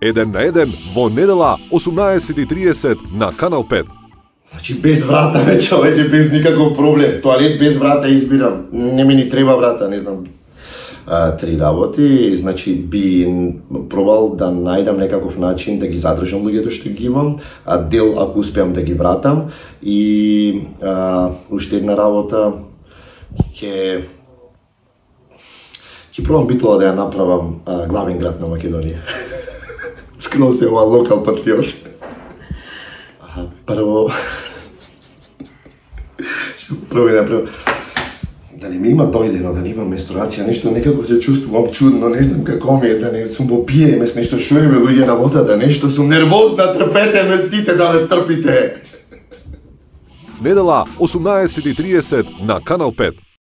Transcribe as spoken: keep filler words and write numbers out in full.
Еден на еден во недела осумнаесет и триесет на Канал пет. Значи без врата ве човече, без никаков проблем. Тоалет без врата избирам. Не ми ни треба врата, не знам. А, три работи, значи би пробал да најдам некаков начин да ги задржам луѓето што ги имам, а дел ако успеам да ги вратам и а, уште една работа ќе ќе пробам Битола да ја направам а, главен град на Македонија. Скрос е ова локал патриот. А, прво што прво да направам да не ми има дојдено, да не има менструација, нешто некако се чувствувам чудно, не знам како ми е, да не сум во пи ем ес, нешто шо е луѓе работа, да нешто сум нервозна, трпете ме сите да ме трпите. Недела осумнаесет и триесет на Канал пет.